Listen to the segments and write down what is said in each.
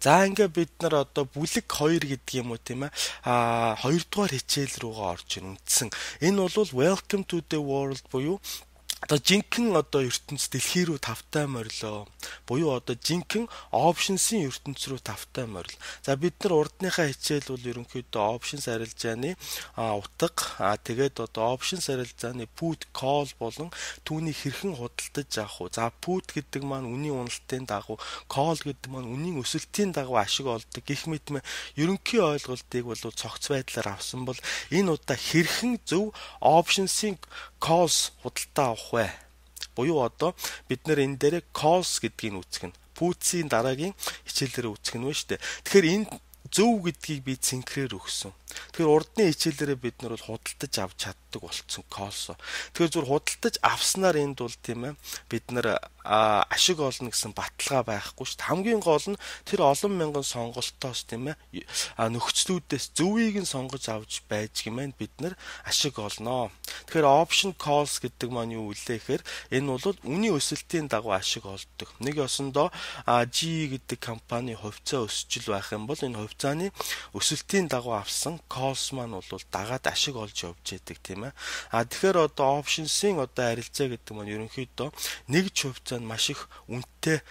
За ингээ бид нар одоо бүлэг 2 гэдэг юм уу тийм ээ. 2 дугаар хичээл рүүгээ орж ийн үндсэн. Энэ бол Welcome to the World буюу одоо жинхэнэ одоо ертөнц дэлхий рүү тавтай морилоо. Буюу одоо жинхэнэ options-ийн ертөнц рүү тавтай морил. За бид нар урдныхаа хичээл бол ерөнхийдөө options арилжааны утга тэгээд одоо options арилжааны put call болон түүнийг хэрхэн худалдаж авах вэ? За put гэдэг маань үнийн уналтын дагуу, call гэдэг маань үнийн өсөлтийн дагуу ашиг олдог гэх мэтмэ ерөнхий ойлголтыг бол цогц байдлаар авсан бол энэ удаа хэрхэн зөв options-ийн calls худалдаа авах вэ? Буюу одоо бид нэр энэ дээр calls гэдгийг үүсгэх нь put-ийн дараагийн хичээлээр үүсгэх нь вэ штэ. Тэгэхээр энэ зөв гэдгийг би цэнхрээр өгсөн. Тэгэхээр урдны хичээлээрээ бид нар бол худалдаж авч чаддаг болцсон calls. Тэгэхээр зүгээр худалдаж авснаар энд бол тийм ээ бид нар ашиг олно гэсэн баталгаа байхгүй шүү дээ. Хамгийн гол нь тэр олон мянган сонголтоос тийм ээ нөхцлүүдээс зөвийг нь сонгож авч байж гэмээр бид нар ашиг олноо. Тэгэхээр option calls гэдэг маань юу вэ гэхээр энэ бол үнийн өсөлтийн дагуу ашиг олдог. Нэг ёсондоо GE гэдэг компани хувьцаа өсчил байх юм бол энэ хувьцааны өсөлтийн дагуу авсан calls маань бол дагаад ашиг олж явж яадаг тийм ээ. Тэгэхээр одоо options-ийн одоо арилжаа гэдэг маань ерөнхийдөө нэг ч хувьцаанд маш их үнэтэй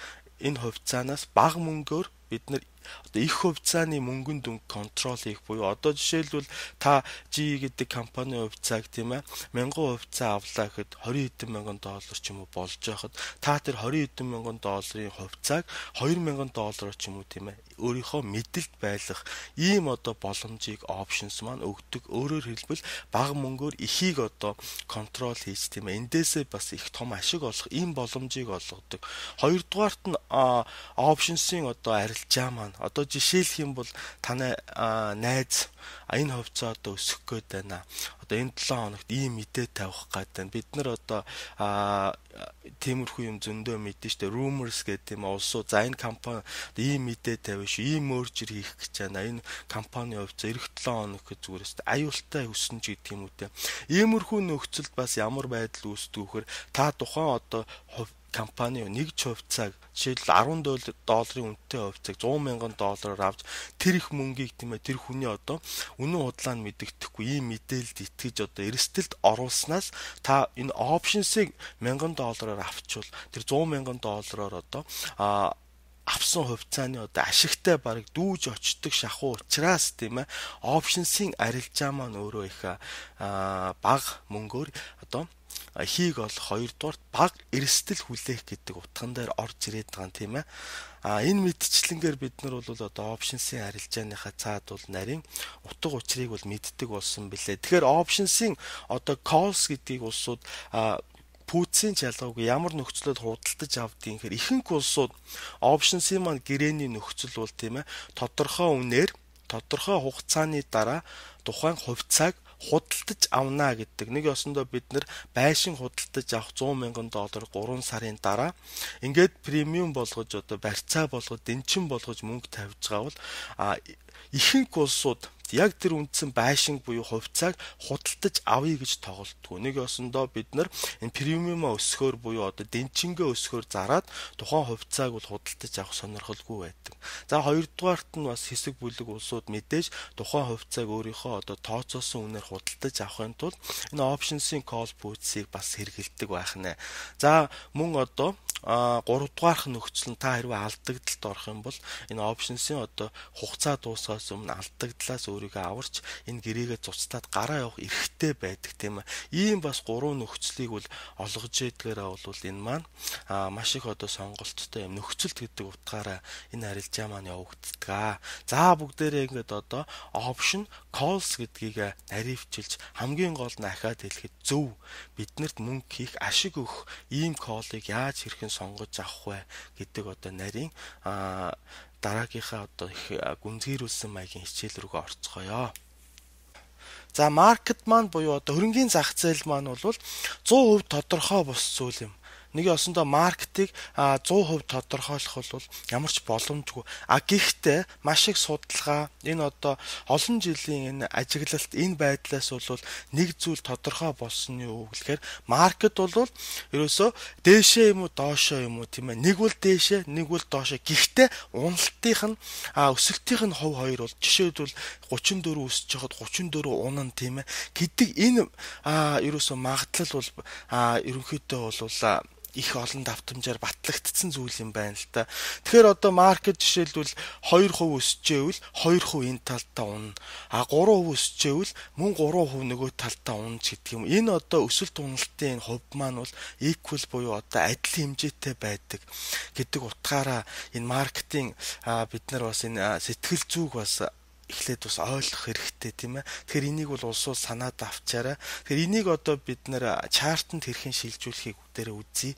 энэ хувьцаанаас бага мөнгөөр бид нар одоо их хувьцааны мөнгөнд дүнг контрол хийх буюу одоо жишээлбэл та GE гэдэг компани хувьцааг тийм ээ 1000 хувьцаа авлаа гэхэд 20 хэдэн мянган доллар ч юм уу болж байхад та тэр 20 хэдэн мянган долларын хувьцааг 2000 доллараар ч юм уу тийм ээ өөрийнхөө мэдэлд байлгах ийм одоо боломжийг options маань өгдөг. Өөрөөр хэлбэл бага мөнгөөр ихийг одоо контрол хийж тийм ээ эндээсээ бас их том ашиг олох ийм боломжийг олгодог. Хоёрдугаарт нь options-ийн одоо арилжаа маань одоо жишээлх юм бол таны найз энэ хувьцаа одоо өсөх гээд байна. Одоо энэ 7 хоногт ийм мэдээ тавих гээд байна. Бид нар одоо тиймэрхүү юм зөндөө мэдэн штэ rumors гэдэг юм улсуу за энэ компани ийм мэдээ тавина шүү. Ийм merger хийх гэж байна. Энэ компани хувьцаа эх 7 хоног гэж зүгээр штэ аюултай өснө ч гэдэг юм үү те. Иймэрхүү нөхцөлд бас ямар байдал үүсдэг вэхээр та тухайн одоо компани нэг ч хувьцааг жишээл 10 долларын үнэтэй хувьцааг 100 мянган доллараар авч тэр их мөнгийг тийм ээ тэр хүний одоо үнэн худлаа нь мэддэхгүй ийм мэдээлэлд итгэж одоо эрсдэлд оруулснаас та энэ options-ыг 1000 доллараар авчвал тэр 100 мянган доллараар одоо авсан хувьцааны одоо ашигтай бараг дүүж очдог шахуу учраас тийм ээ options-ийн арилжаа маань өөрөө их бага мөнгөөр одоо хийг олох хоёрдугаар баг эрсдэл хүлээх гэдэг утган дээр орж ирээд байгаа юм тийм ээ. Энэ мэдчлэнгээр бид нар бол одоо options-ийн арилжааныхаа цаад бол нарийн утга учирыг бол мэддэг болсон билээ. Тэгэхээр options-ийн одоо calls гэдгийг улсууд путцийн ялгаагүй ямар нөхцлөд худалдаж авдгийг гэхээр ихэнх улсууд options-ийн маань гэрээний нөхцөл бол тийм ээ тодорхой үнээр тодорхой хугацааны дараа тухайн хувьцааг худалдаж авна гэдэг. Нэг ёсондоо бид нар байшин худалдаж авах 100 мянган доллар 3 сарын дараа ингээд премиум болгож одоо барьцаа болгож дэнчин болгож мөнгө тавьж байгаа бол ихэнх улсууд яг тэр үндсэн байшин буюу хувьцааг худалдаж авъя гэж тоглолтгүй. Нэг ёсондоо бид нар энэ премиумаа өсгөхөөр буюу одоо дэнчингээ өсгөхөөр зараад тухайн хувьцааг бол худалдаж авах сонирхолгүй байдаг. За хоёрдугаарт нь бас хэсэг бүлэг улсууд мэдээж тухайн хувьцааг өөрийнхөө одоо тооцоосон үнээр худалдаж авахын тулд энэ options-ийн call puts-ийг бас хэрэгэлдэг байх нэ. За мөн одоо 3 дугаарх нөхцөл нь та хэрвээ алдагдaltaд орох юм бол энэ options-ийн одоо хугацаа дуусахаас өмнө алдагдлаас өөрийгөө аварч энэ гэрээгээ цуцтаад гараа явах эрхтэй байдаг тийм ээ. Ийм бас 3 нөхцөлийг бол олгож ядгаараа бол энэ маань маш их одоо сонголттой юм нөхцөлт гэдэг утгаараа энэ арилжаа маань явагддаг. За бүгдээрээ ингээд одоо option calls гэдгийг наривчилж хамгийн гол нь ахаад хэлэхэд зөв биднэрт мөнгө хийх ашиг өгөх ийм call-ыг яаж хэрхэн сонгож авах вэ гэдэг одоо нарийн дараагийнхаа одоо их гүнзгийрүүлсэн маягийн хичээл рүүгээ орцгоё. За маркет маань буюу одоо хөрөнгөний зах зээл маань бол 100% тодорхой бус зүйл юм. нэг ясандаа маркетыг 100% тодорхойлох бол ямар ч боломжгүй. Гэхдээ маш их судалгаа энэ одоо олон жилийн энэ ажиглалт энэ байдлаас бол нэг зүйл тодорхой болсон нь юу гэхээр маркет бол ерөөсөө дээшээ юм уу доошоо юм уу тийм ээ. Нэг бол дээшээ, нэг бол доошоо. Гэхдээ уналтынх нь өсөлтийнх нь хувь хоёр бол жишээлбэл 34 өсөж хахад 34 унана тийм ээ. Гэдэг энэ ерөөсөө магадлал бол ерөнхийдөө бол их олон давтамжаар батлагдсан зүйл юм байна л да. Тэгэхээр одоо маркет жишээлбэл 2% өсөжээвэл 2% энэ талтаа унана. 3% өсөжээвэл мөн 3% нөгөө талтаа унана гэдэг юм. Энэ одоо өсөлт уналтын хувь маань бол equal буюу одоо адил хэмжээтэй байдаг гэдэг утгаараа энэ маркетинг бид нар бас энэ сэтгэл зүг бас эхлээд бас ойлгох хэрэгтэй тийм ээ. Тэгэхээр энийг бол улсууд санаад авчаарай. Тэгэхээр энийг одоо бид нэр чартанд хэрхэн шилжүүлэхийг бүгдээрээ үзье.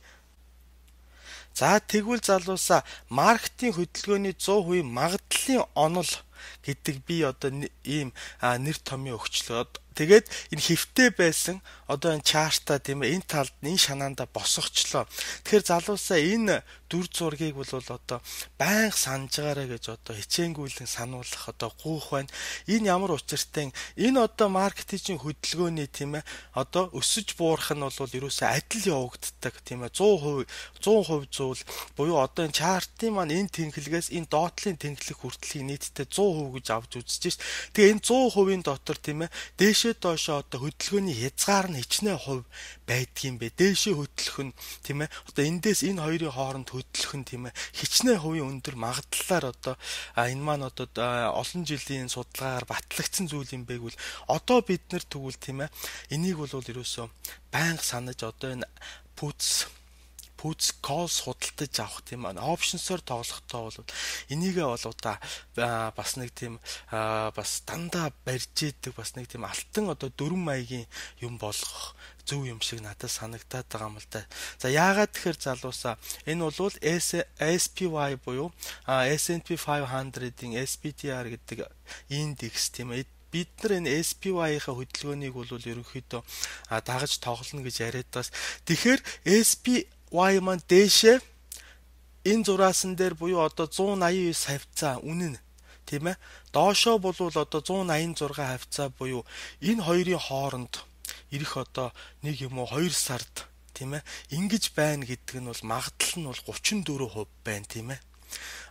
За тэгвэл залуусаа маркетинг хөдөлгөөний 100% магадлалын онол гэдэг би одоо ийм нэр томьёо өгчлөө. Тэгээд энэ хэвтэй байсан одоо энэ чартаа тийм ээ энэ талд энэ шанаанда босгочлоо. Тэгэхээр залуусаа энэ дүр зургийг бол одоо байнга санаж байгаарэ гэж одоо хичээнгүйлэн сануулах одоо гуйх байна. Энэ ямар учиртай энэ одоо маркетинг хөдөлгөөний тийм ээ одоо өсөж буурах нь бол ерөөсөө адил явагддаг тийм ээ 100% зүйл буюу одоо энэ чартын маань энэ тэнхлэгээс энэ доотлын тэнхлэг хүртэлхийг нийтдээ 100% гэж авч үзэж шít. Тэгээ энэ 100%-ийн дотор тийм ээ дээшээ доошоо одоо хөдөлгөөний хязгаар нь хичнээн хувь байдгийм бэ. Дээшээ хөдлөх нь тийм ээ одоо эндээс энэ хоёрын хооронд хөдлөх нь тийм ээ хичнээн хувийн өндөр магадлалаар одоо энэ маань одоо олон жилийн судалгаагаар батлагдсан зүйл юм байг бол одоо бид нар тэгвэл тийм ээ энийг бол ерөөсөө байнга санаж одоо энэ puts calls худалдаж авах тийм аа options-оор тоглохдоо бол энийгээ бол бас нэг тийм бас дандаа барьж идэг бас нэг тийм алтан одоо дөрвөн маягийн юм болгох зөв юм шиг надад санагдаад байгаа юм л да. За яагаад тэгэхээр залуусаа энэ бол SPY буюу S&P 500-ийн SPDR гэдэг индекс тийм ээ бид нар энэ SPY-ийнхаа хөдөлгөөнийг бол ерөнхийдөө дагаж тоглоно гэж яриад бас. Тэгэхээр SPY маань дээшээ энэ зураасан дээр буюу одоо 189 хавцаа үнэн тийм ээ доошоо бол одоо 186 хавцаа буюу энэ хоёрын хооронд ирэх одоо нэг юм уу 2 сард тийм ээ ингэж байна гэдэг нь бол магадлал нь бол 34% байна тийм ээ.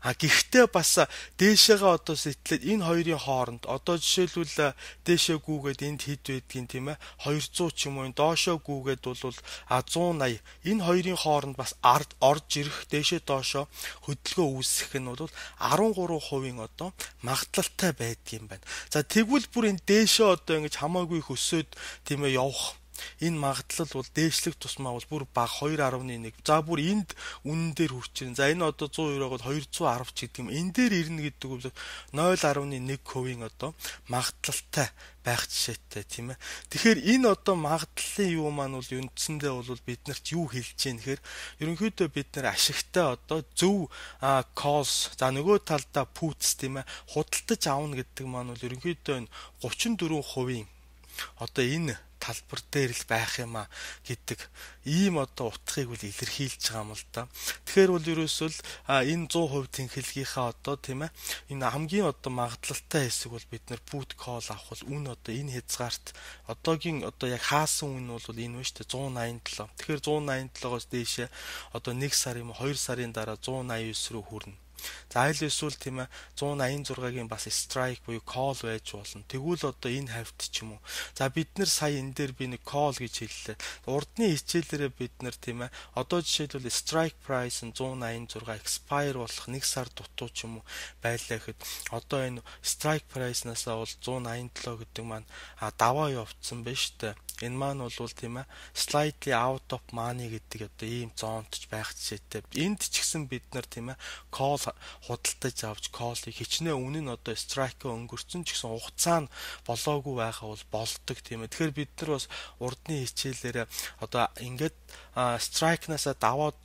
Гэхдээ бас дээшээгээ одоо сэтлээд энэ хоёрын хооронд одоо жишээлбэл дээшээ гүүгээд энд хэд байдгийг тийм ээ 200 ч юм уу доошоо гүүгээд бол 180 энэ хоёрын хооронд бас орж ирэх дээшээ доошоо хөдөлгөөн үүсэх нь бол 13% одоо магадлалтай байдгийм байна. За тэгвэл бүр энэ дээшээ одоо ингэж хамаагүй хөсөөд тийм ээ явах энэ магадлал бол дээшлэх тусмаа бол бүр бага 2.1. За бүр энд үнэн дээр хүрчихэн. За энэ одоо 190-оод 210 ч гэдэг юм. Энэ дээр ирнэ гэдэг бол 0.1% одоо магадлалтай байх жишээтэй тийм ээ. Тэгэхээр энэ одоо магадлалын юу маань бол үндсэндээ бол биднэрт юу хэлж гин гэхээр ерөнхийдөө бид нар ашигтай одоо зөв calls за нөгөө талдаа puts тийм ээ худалдаж авна гэдэг маань бол ерөнхийдөө 34% одоо энэ талбар дээр л байх юм а гэдэг ийм одоо утгыг бол илэрхийлж байгаа юм л да. Тэгэхээр бол ерөөсөө л энэ 100% тэнхилгийнхаа одоо тийм ээ энэ хамгийн одоо магадлалтай хэсэг бол бид нар put call авах бол үн одоо энэ хязгаарт одоогийн одоо яг хаасан үн бол энэ байна шүү дээ 187. Тэгэхээр 187-оос дээшээ одоо 1 сар юм 2 сарын дараа 189 рүү хүрнэ. За айл эсвэл тийм ээ 186-гийн бас strike буюу call байж болно. Тэгвэл одоо энэ хавьт ч юм уу. За бид нар сая энэ дээр би нэг call гэж хэллээ. Урдны хичээлээрээ бид нар тийм ээ одоо жишээлбэл strike price нь 186 expire болох 1 сар дутуу ч юм уу байлаа гэхэд одоо энэ strike price-насаа бол 187 гэдэг маань даваа явцсан байна шүү дээ. Энэ маань бол тийм ээ slightly out of money гэдэг одоо ийм зоонтж байх жишээтэй. Энд ч гэсэн бид нар тийм ээ call худалдаж авч call-ыг хичнээн үнэн нь одоо strike-ыг өнгөрцөн ч гэсэн хугацаа нь болоогүй байхаа бол болдог тийм ээ. Тэгэхээр бид нар бас урдны хичээлээр одоо ингээд strike-насаа даваад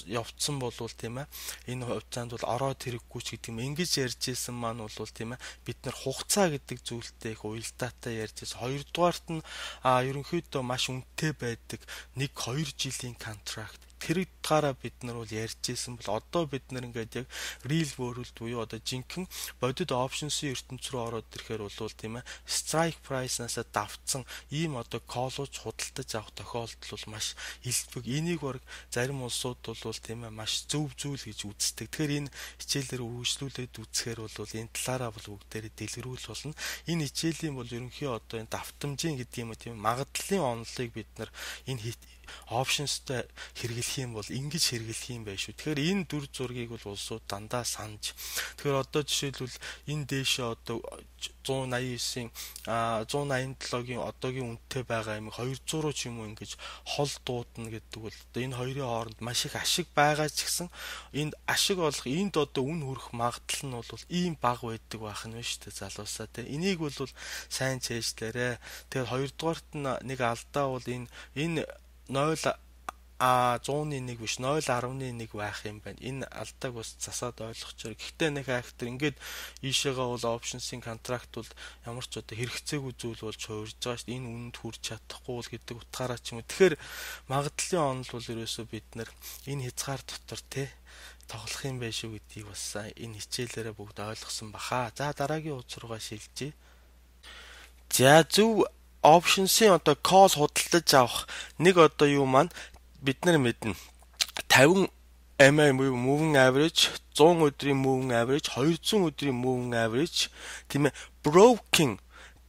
явцсан болвол тийм ээ энэ хугацаанд бол ороод хэрэггүй ч гэдэг юм ингэж ярьж исэн маань бол тийм ээ бид нар хугацаа гэдэг зүйлтэй их уялдаатай ярьж исэн. Хоёрдугаарт нь ерөнхийдөө маш үнэтэй байдаг 1-2 жилийн контракт тэр утгаараа бид нар бол ярьж ирсэн бол одоо бид нар ингээд яг real world буюу одоо жинхэнэ бодит options-ийн ертөнц рүү ороод ирэхээр бол тийм ээ strike price-наас давтсан ийм одоо call-ууч худалдаж авах тохиолдол бол маш илбэг. Энийг баг зарим улсууд бол тийм ээ маш зөв зүйл гэж үздэг. Тэгэхээр энэ хичээлээр үргэлжлүүлээд үзэхээр бол энэ талаараа бол бүгдээрээ дэлгэрүүл болно. Энэ хичээлийн бол ерөнхий одоо энэ давтамжийн гэдэг юм уу тийм магадлалын онолыг бид нар энэ optionsтай хэрэглэх юм бол ингэж хэрэглэх юм байх шүү. Тэгэхээр энэ дүр зургийг бол улсууд дандаа санаж. Тэгэхээр одоо жишээлбэл энэ дээшээ одоо 189-ийн 187-гийн одоогийн үнэтэй байгаа юм 200 ч юм уу ингэж хол дуудана гэдэг бол одоо энэ хоёрын хооронд маш их ашиг байгаа ч гэсэн энд ашиг олох энд одоо үн хүрэх магадлал нь бол ийм бага байдаг байх нь шүү дээ залуусаа тий. Энийг бол сайн чэйжлээрэ. Тэгэхээр хоёрдугаарт нь нэг алдаа бол энэ 101 биш 0.1 байх юм байна. Энэ алдааг бас засаад ойлгочоор. Гэхдээ нэг хайхтар ингээд ийшээгээ бол options-ийн контракт бол ямар ч одоо хэрэгцээгүй зүйл болж хуурж байгаа шүү дээ. Энэ үнэнд хүрч чадахгүй бол гэдэг утгаараа ч юм уу. Тэгэхээр магадлалын онол бол ерөөсөө бид нар энэ хязгаар дотор те тоглох юм байх шүү гэдгийг бас энэ хичээлээрээ бүгд ойлгосон баха. За дараагийн хуудас руугаа шилжье. За зөв options-ийн одоо call худалдаж авах нэг одоо юу маань бид нар мэднэ 50 MA moving average 100 өдрийн moving average 200 өдрийн moving average тийм ээ broken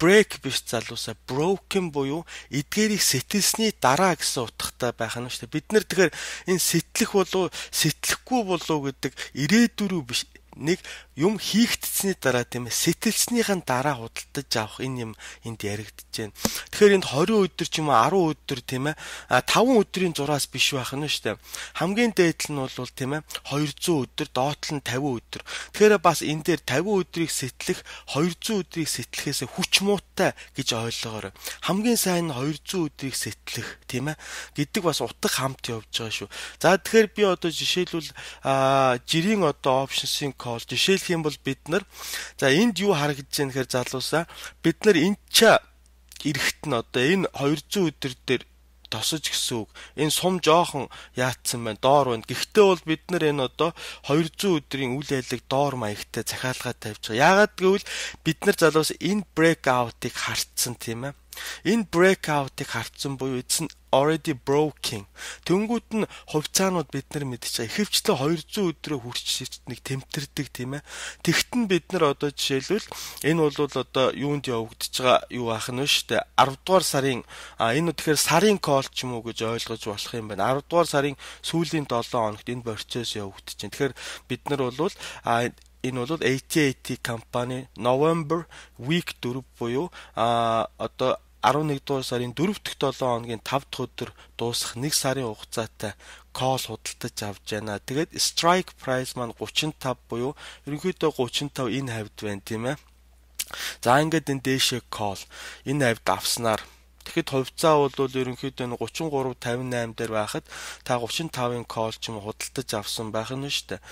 break биш залуусаа broken буюу эдгээрийг сэтэлсний дараа гэсэн утгатай байх нь шүү дээ. Бид нар тэгэхээр энэ сэтлэх болов сэтлэхгүй болов гэдэг ирээдүрүү биш нэг юм хийгдсэний дараа тийм ээ сэтэлснийхэн дараа худалдаж авах энэ юм энд яригдж байна. Тэгэхээр энд 20 өдөр ч юм уу 10 өдөр тийм ээ 5 өдрийн зураас биш байх нь шүү дээ. Хамгийн дээд нь бол тийм ээ 200 өдөр, доотлол нь 50 өдөр. Тэгэхээр бас энэ дээр 50 өдрийг сэтлэх 200 өдрийг сэтлэхээс хүч муутай гэж ойлгоорой. Хамгийн сайн нь 200 өдрийг сэтлэх тийм ээ гэдэг бас утга хамт явж байгаа шүү. За тэгэхээр би одоо жишээлбэл жирийн одоо options-ийн call жишээлх юм бол бид нар за энд юу харагдаж байна гэхээр залуусаа бид нар энд ч эрэхт нь одоо энэ 200 өдөр дээр тосож гэсэн үг. Энэ сум жоохон яатсан байна, доор байна. Гэхдээ бол бид нар энэ одоо 200 өдрийн үйл ажиллагааг доор маягтай захиалгаад тавьж байгаа. Яагаад гэвэл бид нар залуус энэ breakout-ыг харцсан тийм ээ. Энэ breakout-ыг харцсан буюу it's already broken. Тэнгүүд нь хувьцаанууд бид нар мэдчихэе. Ихэвчлэн 200 өдрөө хүрч нэг тэмтэрдэг тийм ээ. Тэгтэн бид нар одоо жишээлбэл энэ бол одоо юунд явагдаж байгаа юу ах нь шүү дээ. 10 дугаар сарын энэ тэгэхээр сарын call ч юм уу гэж ойлгож болох юм байна. 10 дугаар сарын сүүлийн 7 хоногт энэ процесс явагдаж байна. Тэгэхээр бид нар бол энэ бол AT&T компани November week 4 буюу одоо 11 дугаар сарын 4 дахь 7 хоногийн 5 дахь өдөр дуусах 1 сарын хугацаатай call худалдаж авч байна. Тэгээд strike price маань 35 буюу ерөнхийдөө 35 энэ хавьд байна тийм ээ. За ингээд энэ дээшээ call энэ хавьд авснаар тэгэхэд хувьцаа бол ерөнхийдөө 33.58 дээр байхад та 35-ын call ч юм худалдаж авсан байх нь шүү дээ.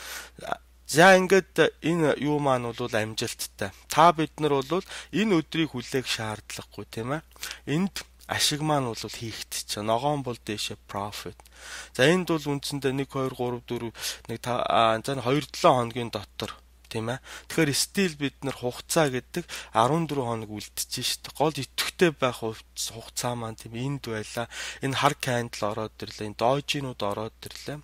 За ингээд энэ юу маань бол амжилттай. Та бид нар бол энэ өдрийг хүлээх шаардлагагүй тийм ээ. Энд ашиг маань бол хийгдчих. Ногоон бол дээшээ profit. За энд бол үндсэндээ 1 2 3 4 1 5 за 2 7 хоногийн дотор тийм ээ. Тэгэхээр стил бид нар хугацаа гэдэг 14 хоног үлдчихэж шít. Гол идэвхтэй байх хугацаа маань тийм энд байла. Энэ хар candle ороод ирлээ. Энэ дojinууд ороод ирлээ.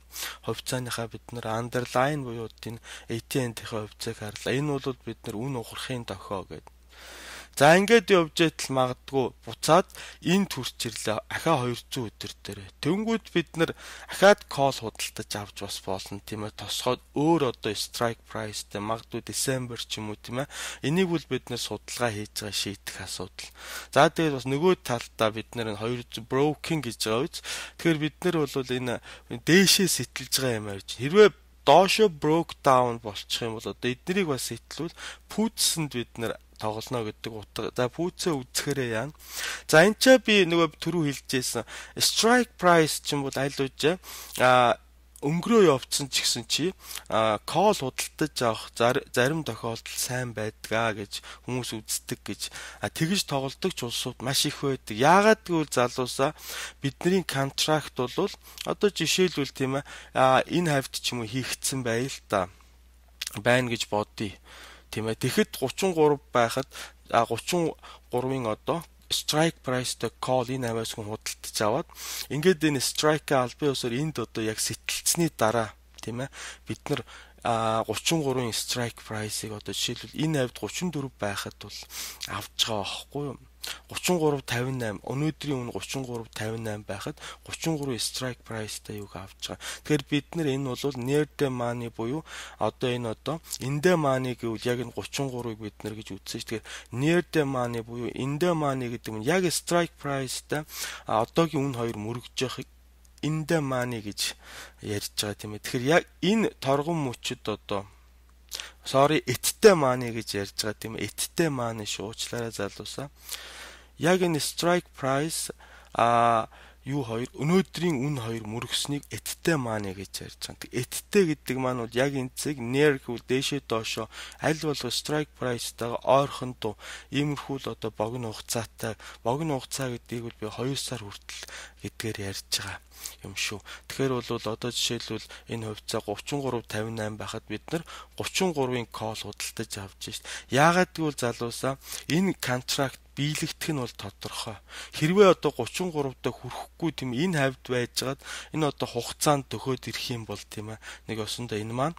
Хувьцааныхаа бид нар underline буюу энэ AT&T-ийн хувьцааг харлаа. Энэ бол бид нар үн ухрахын дохио гэдэг. За ингээд явж байтал магадгүй буцаад энэ төрч ирлээ ахаа 200 өдөр дээр. Тэнгүүд бид нар ахаад call худалдаж авч бас болно тийм ээ. Тосгоод өөр одоо strike priceтэй магадгүй December ч юм уу тийм ээ. Энийг бол бид нар судалгаа хийж байгаа шийдэх асуудал. За тэгээд бас нөгөө талдаа бид нар 200 broken гэж байгаа үз. Тэгэхээр бид нар бол энэ дээшээ сэтэлж байгаа юм аа. Хэрвээ доошо broke down болчих юм бол одоо эднэрийг бас сэтлүүл puts-нд бид нар тоглоно гэдэг утга. За пүүцээ үзэхээрээ яана. За энэ ч би нөгөө түрүү хэлжсэн strike price ч юм бол аль үжээ өнгөрөө явцсан ч гэсэн чи call худалдаж авах зарим тохиолдол сайн байдгаа гэж хүмүүс үздэг гэж тэгж тоглодог ч улсууд маш их байдаг. Яагаад гэвэл залуусаа бидний контракт бол одоо жишээлбэл тийм энэ хавьд ч юм уу хийгдсэн байна гэж бодъё. Тийм ээ. Тэгэхэд 33 байхад 33-ын одоо strike price-тэй call энэ аваас хүн худалдаж аваад ингээд энэ strike-а албан ёсоор энд одоо яг сэтэлцсэний дараа тийм ээ бид нар 33-ын strike price-ыг одоо жишээлбэл энэ хавьд 34 байхад бол авч байгаа байхгүй юу? 33.58 өнөөдрийн үн 33.58 байхад 33 strike price-тай юг авч байгаа. Тэгэхээр бид нар энэ бол near the money буюу одоо энэ in the money гэвэл яг энэ 33-ыг бид нар гэж үзсэн шүү. Тэгэхээр near the money буюу in the money гэдэг нь яг strike price-тай одоогийн үн хоёр мөрөгж явахыг in the money гэж ярьж байгаа тийм ээ. Тэгэхээр яг энэ торгон мөчөд эттэй money гэж ярьж байгаа тийм ээ. Эттэй money шуучлаарай залуусаа. Яг энэ strike price өнөөдрийн үн хоёр мөрөгснийг эттэй money гэж ярьж байгаа. Эттэй гэдэг маань бол яг энэ цэг near гэвэл дээшээ доошоо аль болох strike price-тайгаа ойрхон дуу иймэрхүү л богино хугацаатай. Богино хугацаа гэдгийг бол би 2 сар хүртэл гэдгээр ярьж байгаа юм шүү. Тэгэхээр бол одоо жишээлбэл энэ хувьцаа 33.58 байхад бид нар 33-ын call худалдаж авч шít. Яагаад гэвэл залуусаа энэ контракт биелэгдэх нь бол тодорхой. Хэрвээ 33-д хүрэхгүй тийм энэ хавьд байжгаад энэ хугацаанд төхөөд ирэх юм бол тийм ээ. Нэг осондоо энэ маань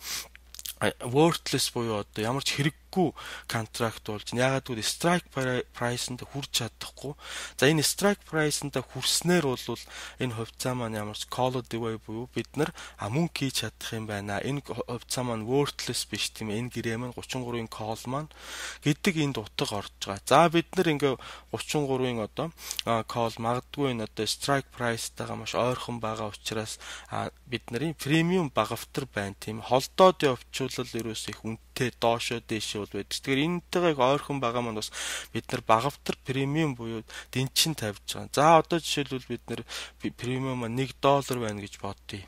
worthless буюу ямар ч хэрэггүй контракт болж ягаад гэвэл strike price-нд хүрч чадахгүй. За энэ strike price-нд хүрснээр бол энэ хувьцаа маань ямар ч called away буюу бид нар мөнгө хийж чадах юм байна. Энэ хувьцаа маань worthless биш тийм ээ. Энэ гэрээ маань 33-ын call маань гэдэг энд утга орж байгаа. За бид нар ингээ 33-ын call магадгүй энэ strike price-тайгаа маш ойрхон байгаа учраас бид нарын премиум багавтар байна тийм. Холдоод явчвал ерөөсөө их үнэтэй доошоо дээшээ бол байдаг. Тэгэхээр энэтэйгээ их ойрхон байгаа маань бас бид нар багавтар премиум буюу дэнчин тавьж байгаа. За одоо жишээлбэл бид нар премиум $1 байна гэж бодъё.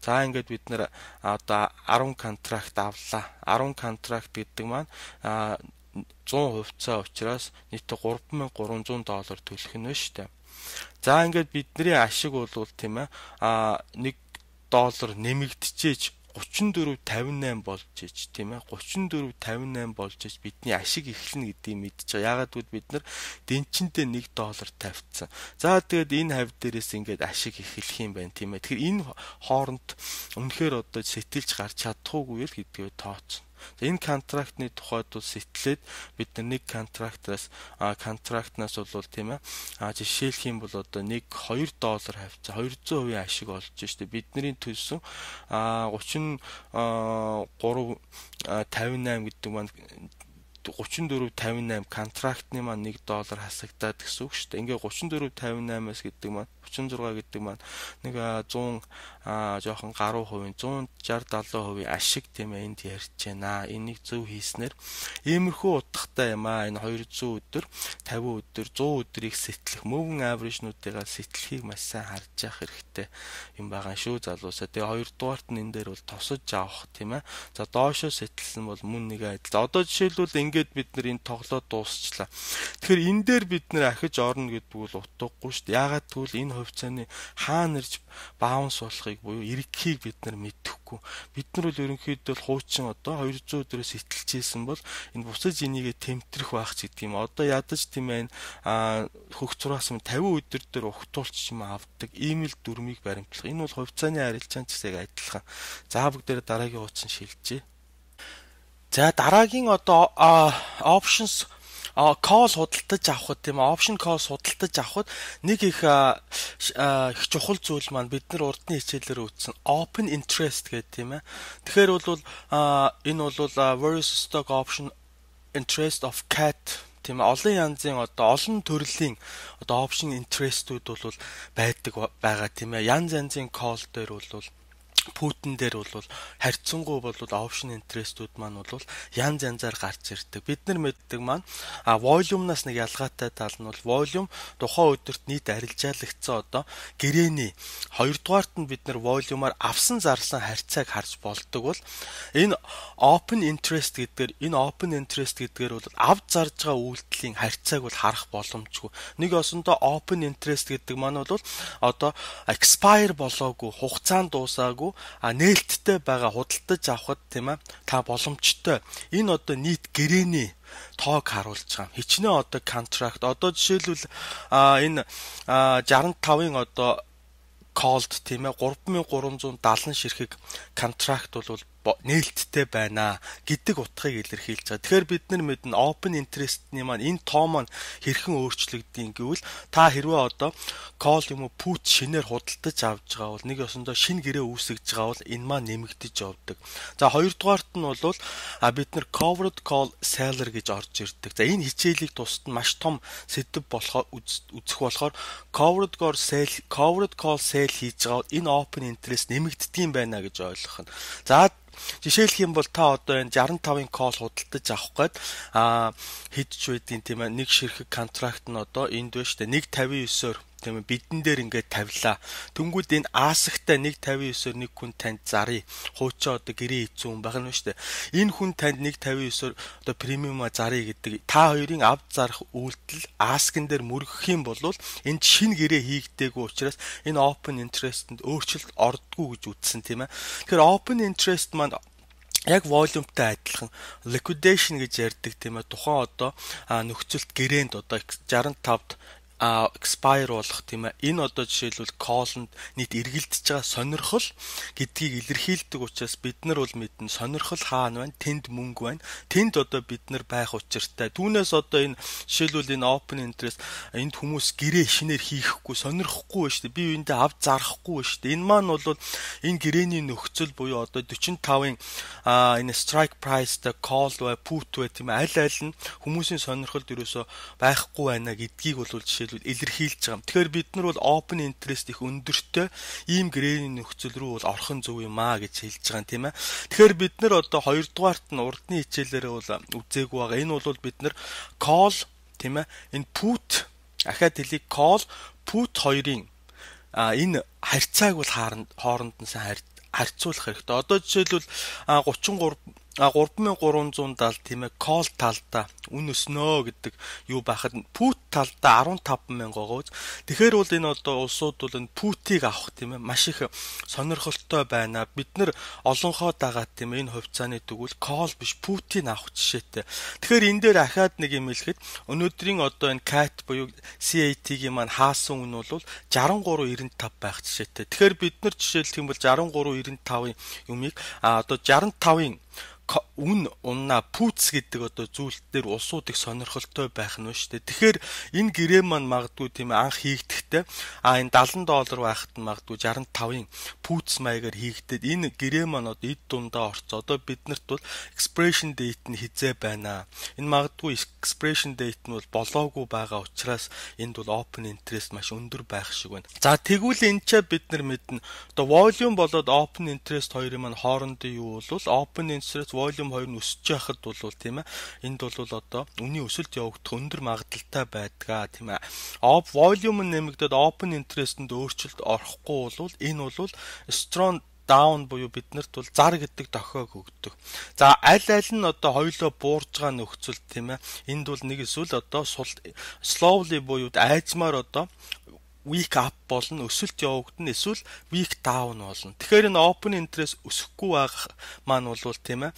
За ингээд бид нар одоо 10 контракт авлаа. 10 контракт гэдэг маань 100 хувьцаа учраас нийтдээ $3,300 төлөх нь байна шүү дээ. За ингээд бидний ашиг бол тийм ээ $1 нэмэгдчихэж 34.58 болж ич тийм ээ 34.58 болж ич бидний ашиг эхэлнэ гэдгийг мэдчихэж байгаа. Яагаад гэвэл бид нар дэнчэндээ $1 тавьчихсан. За тэгээд энэ хавь дээрээс ингээд ашиг эхэлэх юм байна тийм ээ. Тэгэхээр энэ хооронд үнэхээр сэтэлж гарч чадахгүй л гэдгээ тооцсон. Энэ контрактны тухайд бол сэтэлээд бид нар нэг контрактнаас бол тийм ээ жишээлх юм бол $2 хавцаа 200% ашиг олж штэ бидний төлсөн 33.58 гэдэг маань 34.58 контрактны маань $1 хасагдаад гэсэн үг шүү дээ. Ингээ 34.58-аас гэдэг маань 36 гэдэг маань нэг 100 жоохон гаруй хувийн 160-70% ашиг тийм ээ энд ярьж байна. Энийг зөв хийснээр иймэрхүү утгатай юм аа. Энэ 200 өдөр, 50 өдөр, 100 өдрийг сэтлэх moving average-нуудыгаа сэтлэхийг маш сайн харж явах хэрэгтэй юм байгаа шүү залуусаа. Тэгээ хоёрдугаарт нь энэ дээр бол тосож авах тийм ээ. За доошоо сэтэлсэн бол мөн нэг адил. Одоо жишээлбэл ингээд бид нар энэ тоглоод дуусчлаа. Тэгэхээр энэ дээр бид нар ахиж орно гэдэг бол утгагүй шүү дээ. Яагаад гэвэл энэ хувьцааны хаана ирж баунс болохыг буюу эргэхийг бид нар мэдэхгүй. Бид нар бол ерөнхийдөө хуучин 200 өдрөөс сэтэлжсэн бол энэ буцаж энийгээ тэмтрэх байх ч гэдэг юм. Одоо ядаж тийм ээ хөх зураас 50 өдөр дээр ухтуулч юм авдаг имэйл дүрмийг баримтлах. Энэ бол хувьцааны арилжаан ч гэсэн адилхан. За бүгдээр дараагийн хуудсан шилжээ. За дараагийн options call худалдаж авахд тийм option call худалдаж авахд нэг их чухал зүйл маань бид нар урдны хичээлээр үзсэн open interest гэдэг тийм ээ. Тэгэхээр бол энэ бол various stock option interest of CAT тийм олон янзын олон төрлийн option interest-үүд бол байдаг байгаа тийм ээ. Янз янзын call дээр бол Путин дээр бол харьцангуй бол option interest-үүд маань бол янз янзаар гарч ирдэг. Бид нар мэддэг маань volume-наас нэг ялгаатай тал нь бол volume тухайн өдөрт нийт арилжаалагдсан одоо гэрээний хоёрдугаарт нь бид нар volume-аар авсан зарсан харьцааг харж болдог бол энэ open interest гэдгээр бол авд зарж байгаа үйлдэлийн харьцааг бол харах боломжгүй. Нэг осондоо open interest гэдэг маань бол одоо expire болоогүй, хугацаанд дуусаагүй нээлттэй байгаа худалдаж авахд тийм ээ та боломжтой. Энэ одоо нийт гэрээний тоог харуулж байгаа. Хичнээн одоо контракт одоо жишээлбэл энэ 65-ын одоо called тийм ээ 3370 ширхэг контракт бол нээлттэй байна гэдэг утгыг илэрхийлж байгаа. Тэгэхээр бид нар мэднэ open interest-ний маань энэ тоо маань хэрхэн өөрчлөгддөг гэвэл та хэрвээ одоо call юм уу put шинээр худалдаж авж байгаа бол нэг ёсондоо шинэ гэрээ үүсгэж байгаа бол энэ маань нэмэгдэж явдаг. За хоёрдугаарт нь бол бид нар covered call seller гэж орж ирдэг. За энэ хичээлийг тусад нь маш том сэдв болохоор үзэх болохоор covered call sale хийж байгаа бол энэ open interest нэмэгддэг юм байна гэж ойлгох нь. За жишээлх юм бол та одоо энэ 65-ын call худалдаж авах гээд хэдж байдгийн тийм ээ нэг ширхэг контракт нь одоо энд байна шүү дээ 159-оор тийм ээ бидэн дээр ингээд тавилаа. Тэнгүүд энэ аасахтай 159-оор нэг хүн танд зарыг хуучаа одоо гэрээ хийцэн хүн байна шүү дээ. Энэ хүн танд 159-оор одоо премиума зарыг гэдэг та хоёрын авд зарах үйлдэл аскэн дээр мөргөх юм бол энд шинэ гэрээ хийгдээгүй учраас энэ open interest-д өөрчлөлт ордггүй гэж үзсэн тийм ээ. Тэгэхээр open interest маань яг volumeтай адилхан liquidation гэж ярьдаг тийм ээ. Тухайн одоо нөхцөлт гэрээнд одоо 65-д expire болох тийм ээ. Энэ одоо жишээлбэл call-нд нийт эргэлдэж байгаа сонирхол гэдгийг илэрхийлдэг учраас бид нар бол мэднэ сонирхол хаана байна? Тэнд мөнгө байна. Тэнд одоо бид нар байх учиртай. Түүнээс одоо энэ жишээлбэл энэ open interest энд хүмүүс гэрээ шинээр хийхгүй сонирхгүй байна шүү дээ. Би үүндээ авд зарахгүй байна шүү дээ. Энэ маань бол энэ гэрээний нөхцөл буюу одоо 45-ын энэ strike price-тай call бай, put бай тийм ээ. Аль нь хүмүүсийн сонирхолд ерөөсөө байхгүй байна гэдгийг бол жишээлбэл илэрхийлж байгаа. Тэгэхээр бид нар бол open interest их өндөртэй ийм гэрээний нөхцөл рүү бол орхон зөв юм аа гэж хэлж байгаа юм тийм ээ. Тэгэхээр бид нар одоо хоёрдугаарт нь урдны хичээлээрээ бол үзээгүй байгаа. Энэ бол бид нар call тийм ээ. Энэ put ахаад хэлий call put хоёрын энэ харьцааг бол хооронд нь сайн харьцуулах хэрэгтэй. Одоо жишээлбэл 3370 тийм ээ call талдаа үн өснөө гэдэг юу байхад put талдаа 15000 гоогооз. Тэгэхээр бол энэ одоо улсууд бол энэ put-ийг авах тийм ээ маш их сонирхолтой байна. Бид нар олонхоо дагаад тийм ээ энэ хувьцааны тэгвэл call биш put-ийг авах жишээтэй. Тэгэхээр энэ дээр ахаад нэг юм хэлэхэд өнөөдрийн одоо энэ CAT буюу CAT-ийн маань хаасан үн бол 63.95 байх жишээтэй. Тэгэхээр бид нар жишээлх юм бол 63.95-ын юмыг одоо 65-ын үн унна пүүц гэдэг одоо зүйл дээр улсууд их сонирхолтой байх нь шүү дээ. Тэгэхээр энэ гэрээ маань магадгүй тийм анх хийгдэхдээ энэ $70 байхад нь магадгүй 65-ын пүүц маягаар хийгдээд энэ гэрээ маань одоо эд дундаа орцоо. Одоо биднэрт бол expiration date нь хизээ байна. Энэ магадгүй expiration date нь бол болоогүй байгаа учраас энд бол open interest маш өндөр байх шиг байна. За тэгвэл энэ ч бид нар мэднэ. Одоо volume болоод open interest хоёрын маань хоорондын юу бол open interest volume хоёр нь өсөж яхад бол тийм ээ энд бол одоо үнийн өсөлт явагдах өндөр магадaltaй байдгаа тийм ээ. Volume нь нэмэгдээд open interest-д өөрчлөлт орохгүй бол энэ бол strong down буюу биднэрт бол зар гэдэг дохиог өгдөг. За аль нь одоо хоёлоо буурж байгаа нөхцөл тийм ээ. Энд бол нэг эсвэл одоо slowly буюу айзмаар одоо weak up болно, өсөлт явагдана, эсвэл weak down болно. Тэгэхээр энэ open interest өсөхгүй байх маань бол тийм ээ.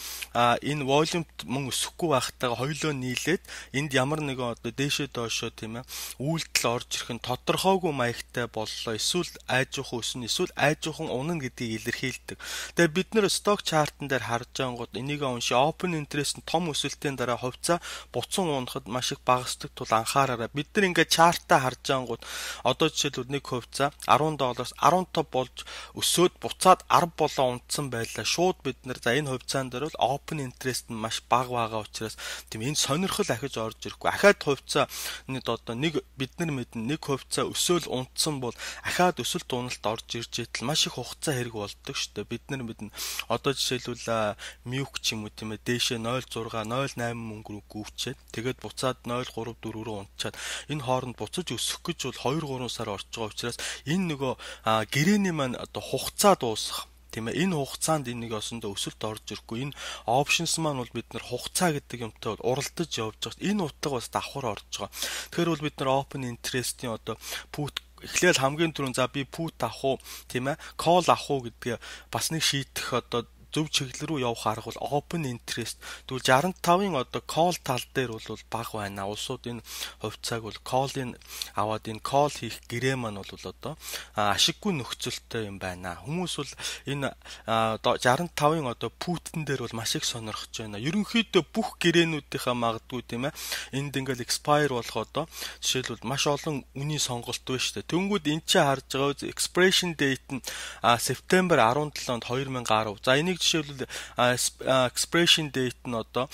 Энэ volume мөн өсөхгүй байхтайгаа хоёулаа нийлээд энд ямар нэгэн одоо дээшээ доошоо тийм ээ үйлдэл орж ирэх нь тодорхойгүй маягтай боллоо. Эсвэл айжуухан өснө, эсвэл айжуухан унана гэдгийг илэрхийлдэг. Тэгээ бид нэр stock chart-н дээр харж байнгут энийг унши open interest нь том өсөлтийн дараа хувьцаа буцан унахад маш их багасдаг тул анхаараарай. Бид нар ингээд chart-а харж байнгут одоо жишээлбэл нэг хувьцаа $10-аас 15 болж өсөөд буцаад 10 болоо унтсан байлаа. Шууд бид нэр за энэ хувьцаан дээр бол open interest нь маш бага байгаа учраас тийм энэ сонирхол ахиж орж ирэхгүй. Ахаад хувьцааны одоо нэг бид нар мэднэ нэг хувьцаа өсөөл унтсан бол ахаад өсөлт уналт орж ирж итэл маш их хугацаа хэрэг болдог шүү дээ. Бид нар мэднэ одоо жишээлбэл мюк ч юм уу тийм ээ дээшээ 0.6 0.8 мөнгө рүү гүйчээд тэгээд буцаад 0.3 4 рүү унтчаад энэ хооронд буцаж өсөх гэж бол 2-3 сар орж байгаа учраас энэ нөгөө гэрээний маань одоо хугацаа дуусах тийм ээ энэ хугацаанд энэ нэг осондоо өсөлт орж ирэхгүй. Энэ options маань бол бид нар хугацаа гэдэг юмтай уралдаж явж байгаа. Энэ утга бас давхар орж байгаа. Тэгэхээр бол бид нар open interest-ийн одоо put эхлээл хамгийн түрүүнд за би put авах уу тийм ээ call авах уу гэдгээ бас нэг шийдэх одоо зөв чиглэл рүү явах арга бол open interest. Тэгвэл 65-ын одоо call тал дээр бол бага байна. Улсууд энэ хувьцааг бол call-ийн аваад энэ call хийх гэрээ маань бол одоо ашиггүй нөхцөлтэй юм байна. Хүмүүс бол энэ 65-ын одоо put-н дээр бол маш их сонирхож байна. Ерөнхийдөө бүх гэрээнүүдийнхаа магадгүй тийм ээ энд ингээл expire болох одоо жишээлбэл маш олон үнийн сонголт байна шүү дээ. Тэнгүүд эн чинь харж байгаа expiration date нь Септембер 17-нд 2010. За энийг жишээлбэл expiration date нь одоо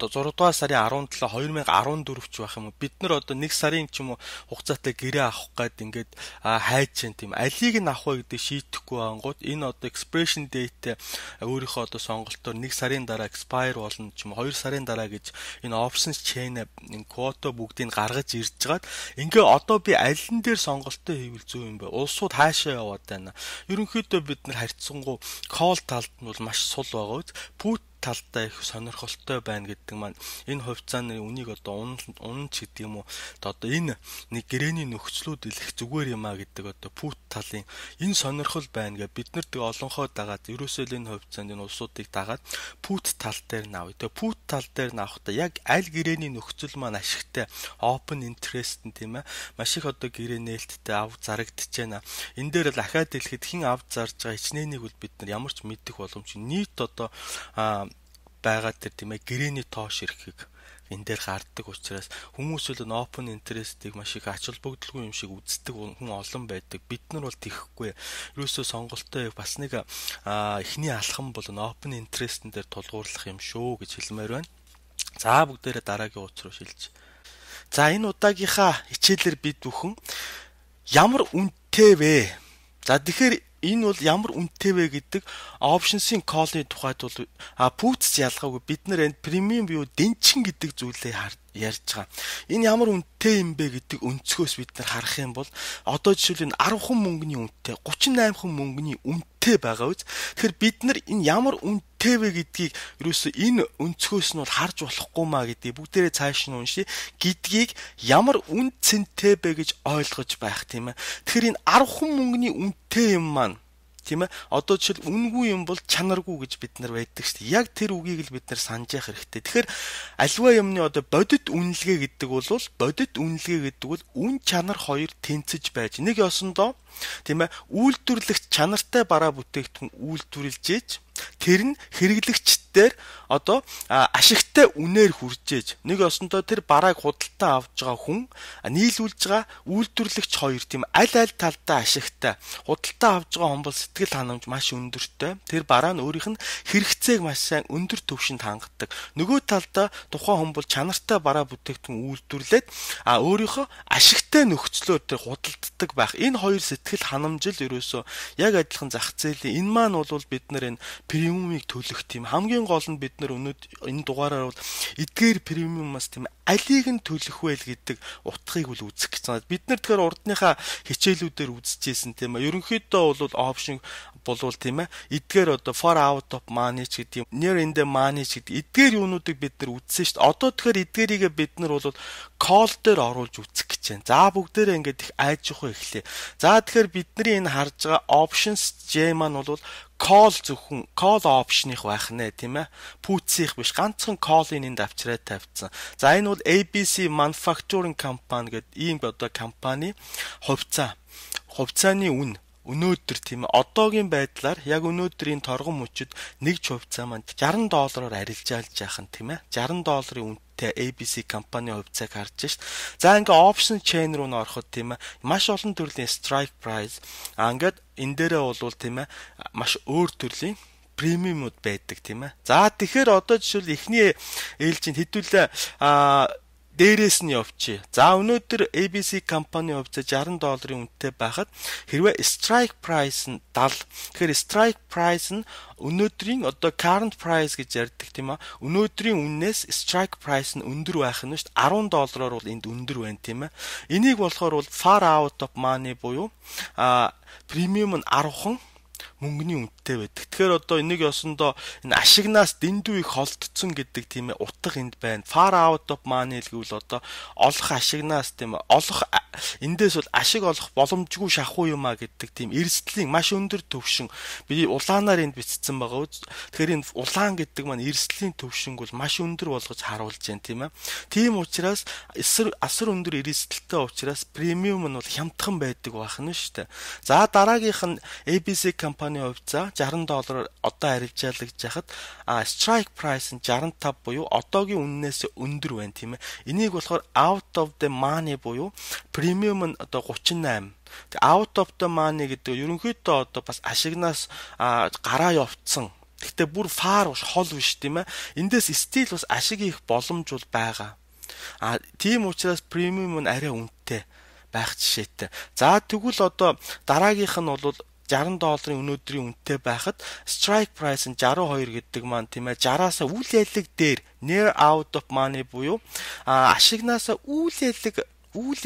6 дугаар сарын 17 2014 ч байх юм уу. Бид нар одоо 1 сарын ч юм уу хугацаатай гэрээ авах гээд ингээд хайж чинь тийм алийг нь авах вэ гэдэг шийдэхгүй ангууд энэ одоо expiration date өөрийнхөө одоо сонголтоор 1 сарын дараа expire болно ч юм уу 2 сарын дараа гэж энэ options chain энэ quota бүгдийг гаргаж ирж байгаад ингээ одоо би аль нь дээр сонголтоо хийвэл зөв юм бэ? Улсууд хаашаа яваад байна? Ерөнхийдөө бид нар харьцангуй call талд нь бол маш сул байгаа үз. Put талдаа их сонирхолтой байна гэдэг маань энэ хувьцааны үнийг одоо унан ч гэдэг юм уу одоо энэ нэг гэрээний нөхцлүүд илэх зүгээр юм а гэдэг одоо put талын энэ сонирхол байна гэж бид нар тэг олонхоо дагаад ерөөсөө энэ хувьцаанд энэ улсуудыг дагаад put тал дээр навъя. Тэгээ put тал дээр навахдаа яг аль гэрээний нөхцөл маань ашигтай open interest нь тийм ээ маш их одоо гэрээ нээлттэй ав зарагдчихэж байна. Энэ дээр л ахаад хэлэхэд хэн ав зарж байгаа хичнэнийг бол бид нар ямар ч мэдэх боломжгүй нийт одоо байгаа тэр тийм ээ гэрээний тоош ирэхийг энэ дээр гарддаг учраас хүмүүс л open interest-ийг маш их ач холбогдолгүй юм шиг үздэг хүн олон байдаг. Бид нар бол тийхгүй. Ерөөсөө сонголтоо бас нэг эхний алхам бол open interest-н дээр тулгуурлах юм шүү гэж хэлмээр байна. За бүгдээрээ дараагийн утас руу шилж. За энэ удаагийнхаа хичээлээр бид бүхэн ямар үнэтэй вэ? За тэгэхээр энэ бол ямар үнэтэй вэ гэдэг options-ийн call-ийн тухайд бол puts ялгаагүй бид нар энэ premium view дэнчин гэдэг зүйлээ ярьж байгаа. Энэ ямар үнэтэй юм бэ гэдэг өнцгөөс бид нар харах юм бол одоо жишээл энэ 10 хүн мөнгөний үнэтэй 38 хүн мөнгөний үнэтэй байгаа үз. Тэгэхээр бид нар энэ ямар үнэтэй вэ гэдгийг ерөөсөө энэ өнцгөөс нь бол харж болохгүй маа гэдгийг бүгдээрээ цааш нь уншия гэдгийг ямар үн цэнтэй бэ гэж ойлгож байх тийм ээ. Тэгэхээр энэ 10 хүн мөнгөний үнэтэй юм маань тийм ээ одоо жишээл үнгүй юм бол чанаргүй гэж бид нар байдаг шүү дээ. Яг тэр үгийг л бид нар санаж явах хэрэгтэй. Тэгэхээр альва юмны одоо бодит үнэлгээ гэдэг бол үн чанар хоёр тэнцэж байж нэг ёсондоо тийм ээ үйлдвэрлэгч чанартай бараа бүтээгдэхүүн үйлдвэрлэж ээж тэр нь хэрэглэгчдээр одоо ашигтай үнээр хүрчээж нэг ёсондоо тэр барааг худалдаа авж байгаа хүн нийлүүлж байгаа үйлдвэрлэгч хоёр тийм аль талдаа ашигтай худалдаа авж байгаа хүн бол сэтгэл ханамж маш өндөртэй тэр бараа нь өөрийнх нь хэрэгцээг маш сайн өндөр түвшинд хангадаг нөгөө талдаа тухайн хүн бол чанартай бараа бүтээгдэхүүн үйлдвэрлээд өөрийнхөө ашигтай нөхцлөөр тэр худалддаг байх энэ хоёр сэтгэл ханамжил ерөөсөө яг адилхан зах зээлийн энэ маань бол бид нар энэ премиумыг төлөх тийм хамгийн гол нь бид нар энэ дугаараар бол эдгээр премиумаас тийм алийг нь төлөх вэ гэдэг утгыг бол үзэх гэсэн. Бид нар тэгэхээр урдныхаа хичээлүүдээр үзчихсэн тийм ээ. Ерөнхийдөө бол option болвол тийм ээ. Эдгээр одоо for out of money гэдэг юм, near in the money гэдэг эдгээр юунуудыг бид нар үзсэн шүү дээ. Одоо тэгэхээр эдгээрийг бид нар бол call дээр оруулж үзэх гэж байна. За бүгдээрээ ингээд их айж явах эхлэе. За тэгэхээр бидний энэ харж байгаа options J маань бол call зөвхөн call option-их байх нэ тийм ээ. Puts-их биш ганцхан call-ийн энд авчраад тавьсан. За энэ бол ABC Manufacturing Company гэдэг ийм одоо компани хувьцааны үн өнөөдөр тийм ээ одоогийн байдлаар яг өнөөдрийн торгон мөчөд нэг хувьцаа маань $60 арилжаалж яах нь тийм ээ $60 үнэтэй ABC компани хувьцааг харж шít. За ингээ option chain руу н ороход тийм ээ маш олон төрлийн strike price ингээд энэ дээрээ бол тийм ээ маш өөр төрлийн премиумуд байдаг тийм ээ. За тэгэхээр одоо жишээл эхний ээлжинд хэдүүлээ дээрээс нь явчих. За өнөөдөр ABC компани хувьцаа $60 үнэтэй байхад хэрвээ strike price нь 70. Тэгэхээр strike price нь өнөөдрийн одоо current price гэж ярьдаг тийм ээ. Өнөөдрийн үннээс strike price нь өндөр байх нь шүү дээ. $10 бол энд өндөр байна тийм ээ. Энийг болохоор бол far out of money буюу премиум нь 10хан мөнгөний үнэтэй байдаг. Тэгэхээр одоо энийг ёсондоо энэ ашигнаас дэндүү их холдсон гэдэг тийм ээ утга энд байна. Far out of money гэвэл одоо олох ашигнаас тийм ээ олох эндээс бол ашиг олох боломжгүй шахуу юм а гэдэг тийм эрсдлийн маш өндөр төвшин би улаанаар энд бичсэн байгаа. Тэгэхээр энэ улаан гэдэг маань эрсдлийн төвшинг бол маш өндөр болгож харуулж байна тийм ээ. Тийм учраас асар өндөр эрсдэлтэй учраас премиум нь бол хямдхан байдаг байх нь шүү дээ. За дараагийнх нь ABC компани хувьцаа $60 одоо арилжаалагч яхад strike price нь 65 буюу одоогийн үннээс өндөр байна тийм ээ. Энийг болохоор out of the money буюу премиум нь одоо 38. Out of the money гэдэг ерөнхийдөө одоо бас ашигнаас гараа явцсан. Гэхдээ бүр far хол биш тийм ээ. Эндээс стил бас ашиг их боломж бол байгаа. Тийм учраас премиум нь арай үнэтэй байх жишээтэй. За тэгвэл одоо дараагийнх нь бол $60 өнөөдрийн үнэтэй байхад strike price нь 62 гэдэг маань тийм ээ 60-аас үйл ялэг дээр near out of money буюу ашигнаасаа үйл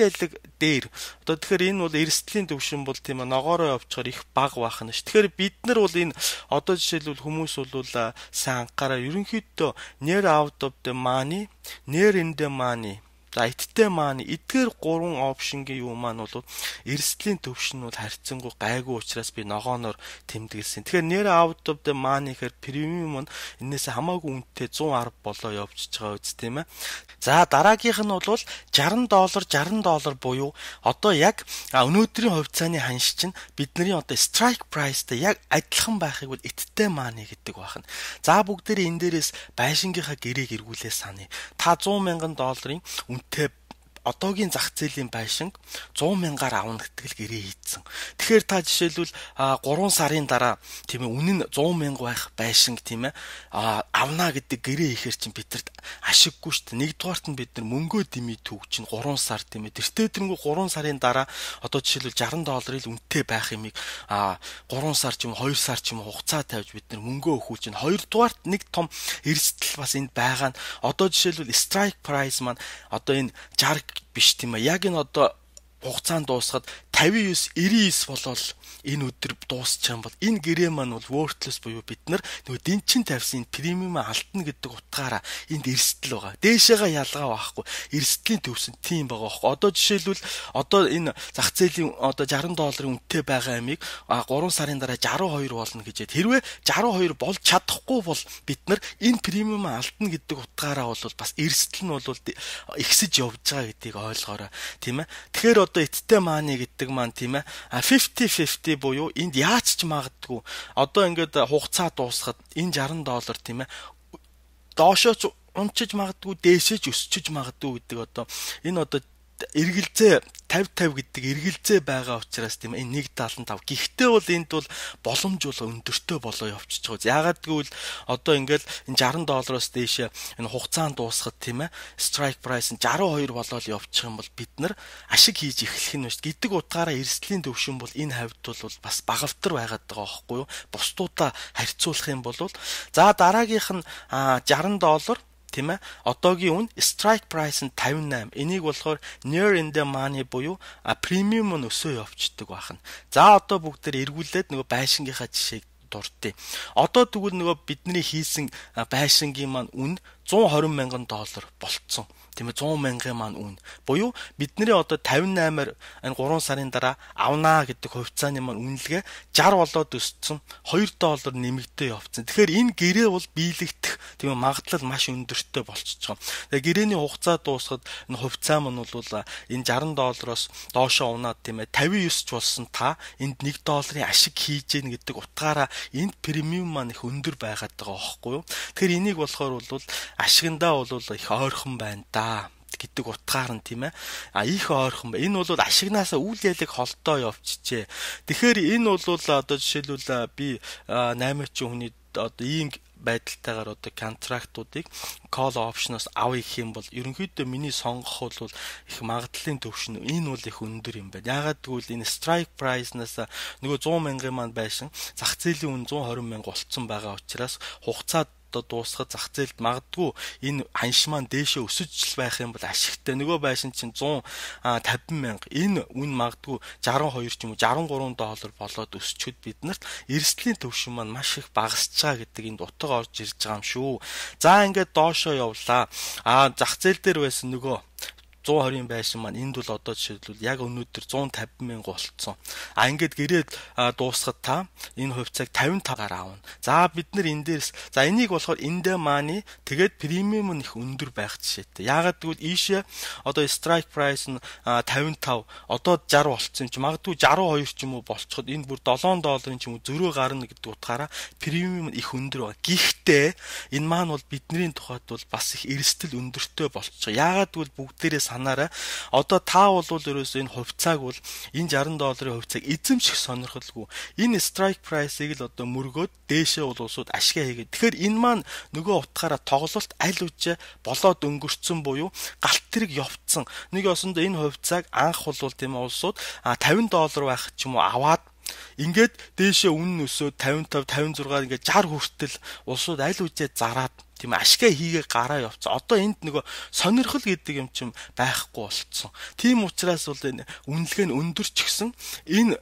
ялэг дээр одоо тэгэхээр энэ бол эрсдлийн төвшин бол тийм ээ ногоороо явчихаар их бага байх нь ш. Тэгэхээр бид нар бол энэ одоо жишээлбэл хүмүүс бол сайн анхаараа ерөнхийдөө near out of the money, near in the money за эдгээр маань эдгээр гурван опшнгийн юу маань бол эрсдлийн төвшин нь бол харьцангуй гайгүй учраас би ногооноор тэмдэглэсэн. Тэгэхээр near out of the money гэхээр премиум нь энээс хамаагүй үнэтэй 110 болоо явчихж байгаа үст тийм ээ. За дараагийнх нь бол $60 буюу одоо яг өнөөдрийн хувьцааны ханш чинь бидний одоо strike priceтай яг адилхан байхыг бол эдтэй money гэдэг байна. За бүгдээрээ энэ дээрээс байшингийнхаа гэрээг эргүүлээ саний. Та $100,000 үнэтэй одоогийн зах зээлийн байшинг 100,000-аар авна гэтгэл гэрээ хийцэн. Тэгэхээр та жишээлбэл 3 сарын дараа тийм ээ үнэн нь 100,000 байх байшинг тийм ээ авна гэдэг гэрээ хийхэр чинь бидэрт ашиггүй шүү дээ. Нэгдүгээрт нь бид нар мөнгөө дэмий түүх чинь 3 сар тийм ээ. Тэртээ тэрнгүү 3 сарын дараа одоо жишээлбэл $60 үнэтэй байх юмыг 3 сар ч юм 2 сар ч юм хугацаа тавьж бид нар мөнгөө өгөх чинь хоёрдугаарт нэг том эрсдэл бас энд байгаа нь одоо жишээлбэл strike price маань одоо энэ 60 биш тийм ээ. Яг энэ одоо хугацаанд дуусахад 59-99 болол энэ өдөр дуусчих юм бол энэ гэрээ маань бол worthless буюу бид нар нөгөө дэнчин тавьсан премиум алдна гэдэг утгаараа энд эрсдэл байгаа. Дээшээгээ ялгаа байхгүй. Эрсдлийн төвсөн тийм байгаа байхгүй. Одоо жишээлбэл одоо энэ зах зээлийн одоо $60 үнэтэй байгаа амийг 3 сарын дараа 62 болно гэжээд хэрвээ 62 болж чадахгүй бол бид нар энэ премиум алдна гэдэг утгаараа бол бас эрсдэл нь бол ихсэж явж байгаа гэдгийг ойлгоорой. Тийм ээ. Тэгэхээр одоо эдтэй мааны гэдэг маань тийм ээ 50-50 буюу энд яаж ч магадгүй одоо ингээд хугацаа дуусахад энэ $60 тийм ээ доошооч унчиж магадгүй дээшээж өсчиж магадгүй гэдэг одоо энэ одоо эргэлзээ 50-50 гэдэг эргэлзээ байгаа учраас тийм энэ 175. Гэхдээ бол энд бол боломж бол өндөртөө болоо явчихж байгаа. Яагаад гэвэл одоо ингээл энэ $60-оос дээш энэ хугацаанд дуусахад тийм ээ strike price нь 62 болоод явчих юм бол бид нар ашиг хийж эхлэх нь шүү гэдэг утгаараа эрсдлийн төвшин бол энэ хавьд бол бас багавтар байгаад байгаа байхгүй юу? Бусдуудаа харьцуулах юм бол за дараагийнх нь $60 тийм ээ одоогийн үн strike price нь 58. Энийг болохоор near in the money буюу премиум нь өсөө явцдаг байна. За одоо бүгдээр эргүүлээд нөгөө байшингийнхаа жишээг дурдъя. Одоо тэгвэл нөгөө бидний хийсэн байшингийн маань үн $120 мянган болцсон. Тийм ээ 100 мянган маань үн. Буюу бидний одоо 58-аар энэ 3 сарын дараа авнаа гэдэг хувьцааны маань үнэлгээ 60 болоод өссөн. $2 нэмэгдээ явцсан. Тэгэхээр энэ гэрээ бол биелэгдэх тийм ээ магадлал маш өндөртэй болчихж байгаа. Тэгээ гэрээний хугацаа дуусахад энэ хувьцаа маань бол энэ $60-оос доошоо унаад тийм ээ 59 ч болсон та энд $1 ашиг хийж гин гэдэг утгаараа энд премиум маань их өндөр байгаад байгаа байхгүй юу? Тэгэхээр энийг болохоор бол ашигндаа бол их ойрхон байна да гэдэг утгаар нь тийм ээ их ойрхон ба энэ бол ашигнаасаа үйл ялэг холдоо явчихжээ. Тэгэхээр энэ бол одоо жишээлбэл би 8 хүний одоо ийм байдалтайгаар одоо контрактуудыг call option-оос авъя гэх юм бол ерөнхийдөө миний сонгох бол их магадлалын төвшин энэ бол их өндөр юм байна. Яагаад гэвэл энэ strike price-наас нөгөө 100 мянган маань байшин зах зээлийн үн 120 мянга болцсон байгаа учраас хугацаа дуусахад зах зээлд магадгүй энэ ханш маань дээшээ өсөж байх юм бол ашигтай. Нөгөө байшин чинь 150 мянга. Энэ үн магадгүй 62 ч юм уу $63 болоод өсчөд биднэрт эрсдлийн төвшин маань маш их багасч байгаа гэдэг энд утга орж ирж байгаа юм шүү. За ингээд доошоо явлаа. Зах зээл дээр байсан нөгөө 120 байшин маань энд бол одоо жишээлбэл яг өнөөдөр 150 мянга болцсон. Ингээд гэрээд дуусахад та энэ хувьцааг 55-аар аавна. За бид нар энэ дээрс за энийг болохоор эндээ мааны тэгээд премиум нь их өндөр байх жишээтэй. Яагаад гэвэл ийшээ одоо strike price нь 55 одоо 60 болцсон юм чи магадгүй 62 ч юм уу болцоход энэ бүр $7 ч юм уу зөрөө гарна гэдэг утгаараа премиум нь их өндөр байна. Гэхдээ энэ маань бол бидний тухайд бол бас их эрсдэл өндөртэй болчих. Яагаад гэвэл бүгдээрээ санаарай. Одоо та бол ерөөсөө энэ хувьцааг бол энэ $60 хувьцааг эзэмших сонирхолгүй. Энэ strike price-ыг л одоо мөргөөд дээшээ бол улсууд ашигаа хийгээд. Тэгэхээр энэ маань нөгөө утгаараа тоглолт аль үжээ болоод өнгөрцөн буюу галт тэрэг явцсан. Нэг осондоо энэ хувьцааг анх бол тийм улсууд $50 байх ч юм уу аваад ингээд дээшээ үнэн өсөөд 55 56 ингээд 60 хүртэл улсууд аль үжээ зараад тийм ашгаа хийгээ гараа явцсан. Одоо энд нөгөө сонирхол гэдэг юм чинь байхгүй болцсон. Тийм учраас бол энэ үнэлгээ нь өндөрч гисэн энэ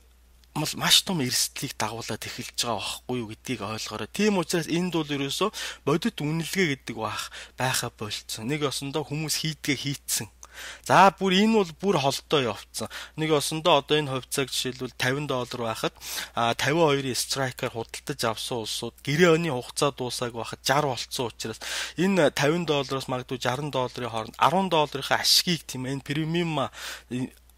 маш том эрсдлийг дагуулад эхэлж байгаа байхгүй юу гэдгийг ойлгоорой. Тийм учраас энд бол ерөөсөө бодит үнэлгээ гэдэг байхаа болцсон. Нэг осондоо хүмүүс хийдгээ хийцэн. За бүр энэ бол бүр холдоо явцсан. Нэг осондоо одоо энэ хувьцааг жишээлбэл $50 байхад 52-ийн страйкаар худалдаж авсан улсууд гэрээ оны хугацаа дуусааг байхад 60 болцсон учраас энэ $50-оос магадгүй $60 хооронд $10-ийн ашгийг тийм энэ премиум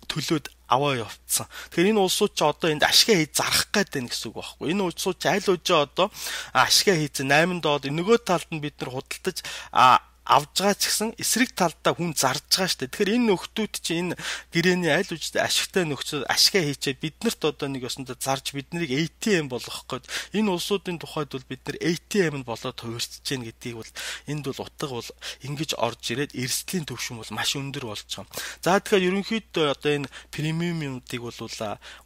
төлөөд аваа явцсан. Тэгэхээр энэ улсууд ч одоо энд ашгаа хийж зарах гээд байна гэсэн үг байхгүй. Энэ улсууд ч аль үжээ одоо ашгаа хийцэн $8 нөгөө талд нь бид нар худалдаж авж байгаа ч гэсэн эсрэг талдаа хүн зарж байгаа шүү дээ. Тэгэхээр энэ нөхдүүд чинь энэ гэрээний аль үжтэй ашигтай нөхцөл ашгаа хийчээд биднэрт одоо нэг ёсондоо зарж биднийг ATM болгох гээд энэ улсуудын тухайд бол бид нар ATM нь болоод хувирчж гин гэдгийг бол энд бол утга бол ингэж орж ирээд эрсдлийн төвшин бол маш өндөр болж байгаа. За тэгэхээр ерөнхийдөө одоо энэ премиумуудыг бол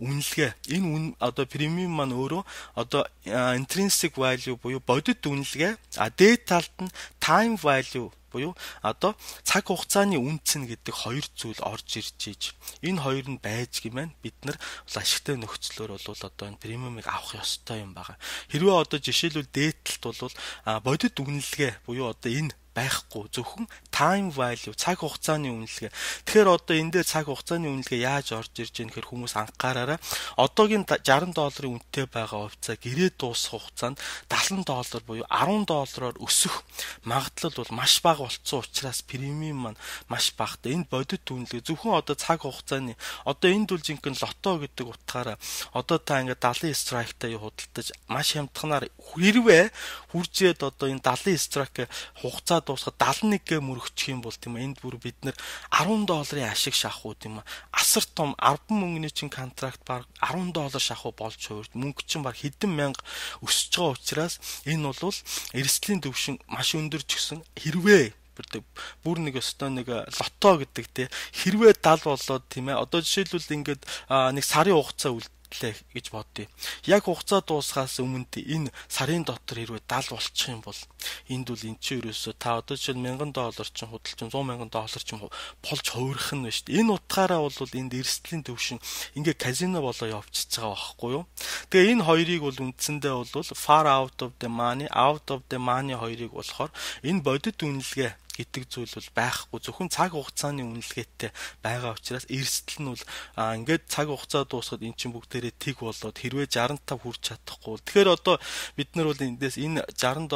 үнэлгээ энэ одоо премиум маань өөрөө одоо intrinsic value буюу бодит үнэлгээ дээд талд нь time value буюу одоо цаг хугацааны үнцэн гэдэг хоёр зүйл орж ирж ийж энэ хоёр нь байж гэмээр бид нар ашигтай нөхцлөөр бол одоо энэ премиумыг авах ёстой юм байна. Хэрвээ одоо жишээлбэл дээдлэлт бол бодит үнэлгээ буюу одоо энэ байхгүй зөвхөн time value цаг хугацааны үнэлгээ. Тэгэхээр одоо энэ дээр цаг хугацааны үнэлгээ яаж орж ирж байгаа нөхөр хүмүүс анхаараарай. Одоогийн $60 үнэтэй байгаа хувьцаа гэрээ дуусах хугацаанд $70 буюу $10-оор өсөх магадлал бол маш бага болцсон учраас премиум маань маш багтай. Энэ бодит үнэлгээ зөвхөн одоо цаг хугацааны одоо энд бол жинхэнэ лото гэдэг утгаараа одоо та ингээд 70 страйктай худалдаж маш хямдханаар хэрвээ хуржээд одоо энэ 70 страйк хугацаа дуусахад 71-гээ мөрөгчих юм бол тийм энд бүр бид нэр $10 ашиг шахуу тийм асар том 10 мөнгөний чин контракт баг $10 шахуу болж хувирд мөнгө чин баг хэдэн мянга өсөж байгаа учраас энэ бол эрсдлийн төвшин маш өндөрч гисэн хэрвээ бүр нэг өстой нэг лото гэдэг те хэрвээ 70 болоод тийм одоо жишээлбэл ингээд нэг сарын хугацаа гэж бодъё. Яг хугацаа дуусахаас өмнө энэ сарын дотор хэрвээ 70 болчих юм бол Энд бол эн чинь ерөөсөө та одоо жишээл $1000 ч худалч $100,000 ч болж хувирах нь байна шүү дээ. Энэ утгаараа бол энд эрсдлийн төвшин ингээ казино болоо явчихж байгаа байхгүй юу? Тэгээ энэ хоёрыг бол үндсэндээ бол far out of the money хоёрыг болохоор энэ бодит үнэлгээ гэдэг зүйл бол байхгүй, зөвхөн цаг хугацааны үнэлгээтэй байгаа учраас эрсдэл нь бол ингээд цаг хугацаа дуусахад эн чинь бүгдээрээ тэг болоод хэрвээ 65 хүрч чадахгүй. Тэгэхээр одоо бид нар бол эндээс энэ $60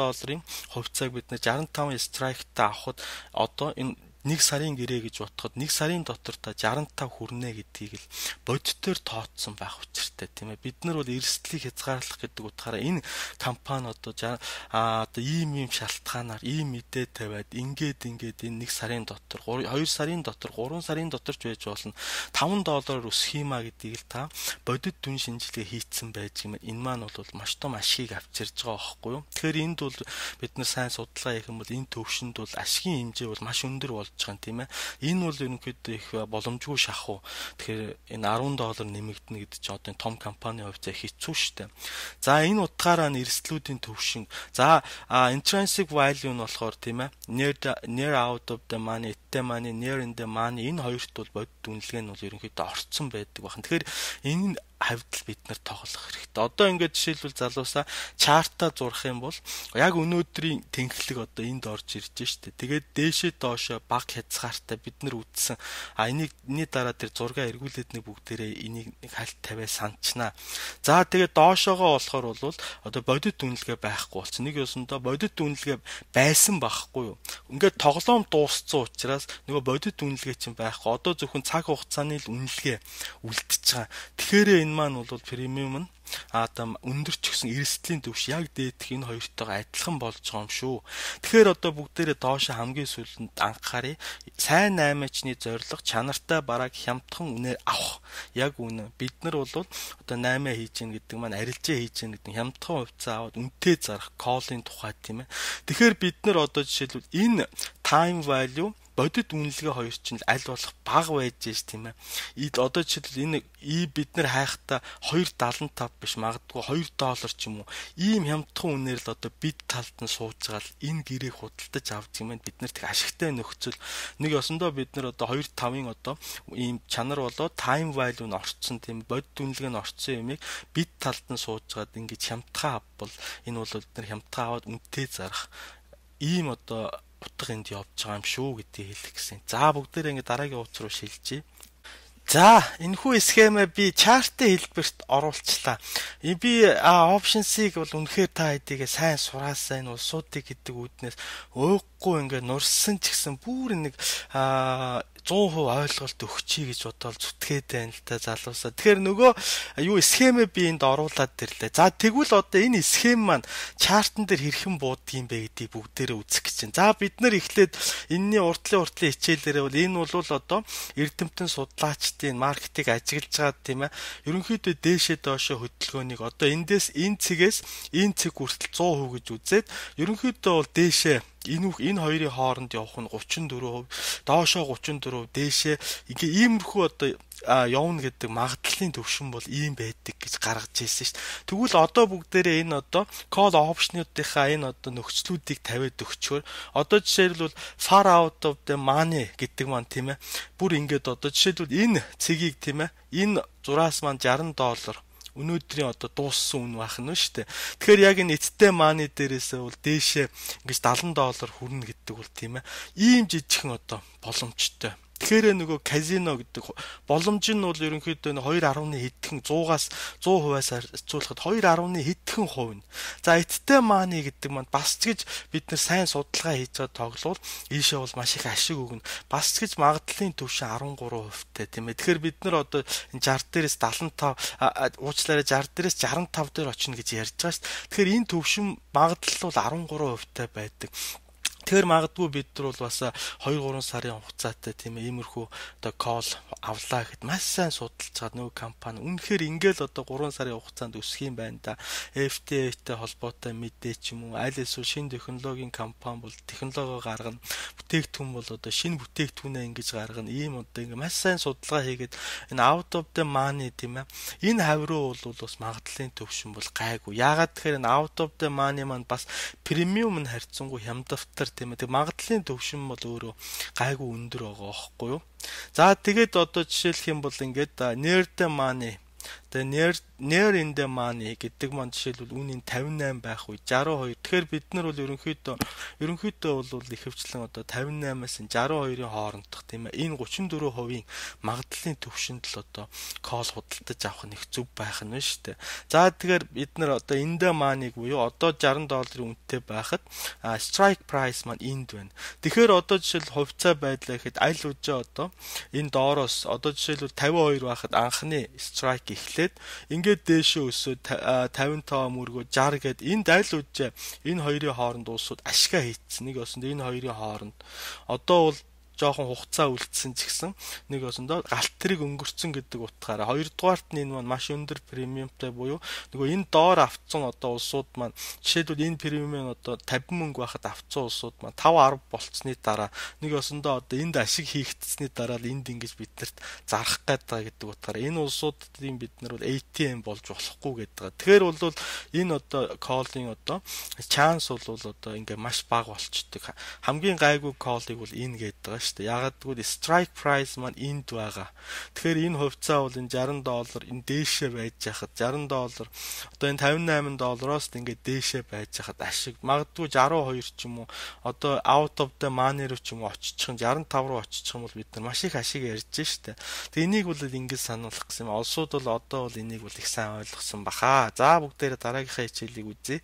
хувьцааг бид нар 65 страйктай авахд одоо энэ 1 сарын гэрээ гэж бодоход 1 сарын дотор та 65 хүрнэ гэдгийг л бодитоор тооцсон байх учиртай тийм ээ. Бид нар бол эрсдлийг хязгаарлах гэдэг утгаараа энэ компани одоо ийм шалтгаанаар ийм мэдээ тавиад ингээд энэ 1 сарын дотор 2 сарын дотор 3 сарын дотор ч байж болно $5 өсөх юмаа гэдгийг л та бодит дүн шинжилгээ хийцэн байж юм. Энэ маань бол маш том ашиг авчирж байгаа байхгүй юу? Тэгэхээр энд бол бид нар сайн судалгаа хийх юм бол энэ төвшөнд бол ашигын хэмжээ бол маш өндөр болж байгаа тийм ээ. Энэ бол ерөнхийдөө их боломжгүй шахуу. Тэгэхээр энэ $10 нэмэгдэнэ гэдэг чинь одоо том компанийн хувьд хэцүү шттэ. За энэ утгаараа эрсдлүүдийн төвшин. За intrinsic value нь болохоор тийм ээ. Near out of the money, at the money, near in the money энэ хоёрт бол бодит үнэлгээ нь бол ерөнхийдөө орцсон байдаг байна. Тэгэхээр энэ хавьдал бид нар тоглох хэрэгтэй. Одоо ингээд жишээлбэл залуусаа чартаа зурх юм бол яг өнөөдрийн тэнхлэг одоо энд орж ирж штэ. Тэгээд дээшээ доошоо баг хязгаартай бид нар үтсэн. Энийний дараа тэр зургаа эргүүлээд нэг бүгдээрээ энийг нэг хальт тавиа санчнаа. За тэгээд доошоогоо болохоор бол одоо бодит үнэлгээ байхгүй болсон. Нэг ёсондоо бодит үнэлгээ байсан байхгүй юу? Ингээд тоглоом дууссан учраас нөгөө бодит үнэлгээ чинь байхгүй. Одоо зөвхөн цаг хугацааны л үнэлгээ үлдчихэж байгаа. Тэгэхээр энэ маань бол премиум нь өндөр ч гэсэн эрсдлийн төвш яг дээдх энэ хоёртойгоо адилхан болж байгаа юм шүү. Тэгэхээр одоо бүгдээрээ доошо хамгийн сүүлд анхаарыг сайн наймаачны зорилго чанартай бараг хямдхан үнээр авах. Яг үнэ. Бид нар бол одоо наймаа хийж гин гэдэг маань арилжаа хийж гин гэдэг хямдхан хувьцаа аваад үнэтэй зарах колын тухай тийм ээ. Тэгэхээр бид нар одоо жишээлбэл энэ time value бодит үнэлгээ хоёр чинь аль болох бага байж ш тийм ээ. Одоо жишээлбэл энэ бид нар хайхтаа 2.75 биш магадгүй $2 ч юм уу. Ийм хямдхан үнээр л одоо бид талд нь сууж байгаа л энэ гэрээг худалдаж авдаг юм байна. Бид нарт их ашигтай нөхцөл. Нэг ёсондоо бид нар одоо 2.5-ын одоо ийм чанар болоо time value нь орцсон тийм бодит үнэлгээ нь орцсон юмыг бид талд нь сууж байгаад ингэж хямдхан авбал энэ бол бид нар хямдхан аваад үнэтэй зарах ийм одоо утга энд явж байгаа юм шүү гэдгийг хэлэх гэсэн. За бүгдээрээ ингэ дараагийн хуудас руу шилжье. За энэхүү схемээ би чартын хэлбэрт оруулчлаа. Би option-ыг бол үнэхээр та хэдийгээ сайн сураасаа энэ улсуудыг гэдэг үүднээс өөхгүй ингээ нурсан ч гэсэн бүр нэг 100% ойлголт өгчий гэж бодоод зүтгээд байна л та залуусаа. Тэгэхээр нөгөө схемээ би энд оруулаад ирлээ. За тэгвэл одоо энэ схем маань чартан дээр хэрхэн бууддгийм бэ гэдгийг бүгдээрээ үзэх гэж байна. За бид нар эхлээд энэний уртлын хичээлээрээ бол энэ бол одоо эрдэмтэн судлаачдын маркетинг ажиглаж байгаа тийм ээ. Ерөнхийдөө дээшээ доошоо хөдөлгөөнийг одоо эндээс энэ цэгээс энэ цэг хүртэл 100% гэж үзээд ерөнхийдөө бол дээшээ энэ хоёрын хооронд явах нь 34%, доошоо 34%, дээшээ ингээ иймэрхүү одоо явна гэдэг магадлалын төвшин бол ийм байдаг гэж гаргаж ирсэн шүү дээ. Тэгвэл одоо бүгдээрээ энэ одоо call option-уудынхаа энэ одоо нөхцлүүдийг тавиад өгчөөр одоо жишээлбэл far out of the money гэдэг маань тийм ээ. Бүр ингээд одоо жишээлбэл энэ цэгийг тийм ээ. Энэ зураас маань $60 өнөөдрийн одоо дууссан үн байх нь шүү дээ. Тэгэхээр яг энэ эцтэй мааны дээрээсээ бол дээшээ ингэж $70 хүрнэ гэдэг бол тийм ээ. Ийм жижигхэн одоо боломжтой. Тэгэхээр нөгөө казино гэдэг боломж нь бол ерөнхийдөө 2.1 хэдхэн 100-аас 100%-аас харьцуулахад 2.1 хэдхэн хувь. За эцтэй мааны гэдэг маань бас ч гэж бид нар сайн судалгаа хийж байгаа тоглол ийшээ бол маш их ашиг өгнө. Бас ч гэж магадлалын түвшин 13%-тай тийм ээ. Тэгэхээр бид нар одоо 60 дээрээс 75 уучлаарай 60 дээрээс 65 дээр очино гэж ярьж байгаа шүү дээ. Тэгэхээр энэ түвшин магадлал бол 13%-тай байдаг. Тэгэхээр магадгүй бид нар бол бас 2-3 сарын хугацаатай тийм ээ иймэрхүү одоо call авлаа гэхэд маш сайн судалж байгаа нөгөө компани үнэхээр ингээл одоо 3 сарын хугацаанд өсөх юм байна да. FDA-тэй холбоотой мэдээ ч юм уу аль эсвэл шинэ технологийн компани бол технологи гаргана. бүтээгдэхүүн бол одоо шинэ бүтээгдэхүүнээ ингэж гаргана. Ийм одоо ингээ маш сайн судалгаа хийгээд энэ out of the money тийм ээ. Энэ хавь руу бол бас магадлалын төвшин бол гайгүй. Яагаад тэгэхээр энэ out of the money маань бас премиум нь харьцангуй хямдвар тийм ээ. Тэг магадлалын төвшин бол өөрөө гайгүй өндөр байгаа байхгүй юу? За тэгээд одоо жишээлх юм бол ингээд near the money тэгээ near in the money гэдэг маань жишээлбэл үнийн 58 байх үе 62. Тэгэхээр бид нар бол ерөнхийдөө бол ихэвчлэн одоо 58-аас 62-ын хоорондох тийм ээ. Энэ 34% магадлалын төвшөнд л одоо call худалдаж авах нэг зөв байх нь шүү дээ. За тэгэхээр бид нар одоо in the money буюу одоо $60 үнэтэй байхад strike price маань энд байна. Тэгэхээр одоо жишээл хувьцаа байдлаа гэхэд аль үжээ одоо энэ доороос одоо жишээлбэл 52 байхад анхны strike эхлээд ингээд дээшээ өсөөд 55 мөргөө 60 гээд энд аль үжээ энэ хоёрын хооронд уусууд ашгаа хийцсэн. Нэг осонд энэ хоёрын хооронд одоо бол жоохон хугацаа үлдсэн ч гэсэн нэг осондоо галт тэрэг өнгөрцөн гэдэг утгаараа хоёрдугаарт нь энэ маань маш өндөр премиумтай буюу нөгөө энэ доор авцсан одоо улсууд маань жишээлбэл энэ премиум одоо 50 мөнгө байхад авцсан улсууд маань 5-10 болцсны дараа нэг осондоо одоо энд ашиг хийгдсэний дараа л энд ингэж биднэрт зарах гэдэг гэдэг утгаараа энэ улсуудын бид нар бол ATM болж болохгүй гэдэг. Тэгэхээр бол энэ одоо calling одоо chance бол одоо ингээ маш бага болчдөг. Хамгийн гайгүй calling бол энэ гэдэг шүү дээ. Ягаад гэвэл strike price маань энд байгаа. Тэгэхээр энэ хувьцаа бол энэ $60 энэ дээшээ байж хахад $60 одоо энэ $58-оос ингээд дээшээ байж хахад ашиг магадгүй 62 ч юм уу одоо out of the money руу ч юм уу очичих 65 руу очичих юм бол бид нар маш их ашиг ярьж штэ. Тэгээ энийг бол ингэж сануулах гэсэн юм. Олсууд бол одоо бол энийг бол их сайн ойлгосон баха. За бүгдээрээ дараагийнхаа хичээлийг үзье.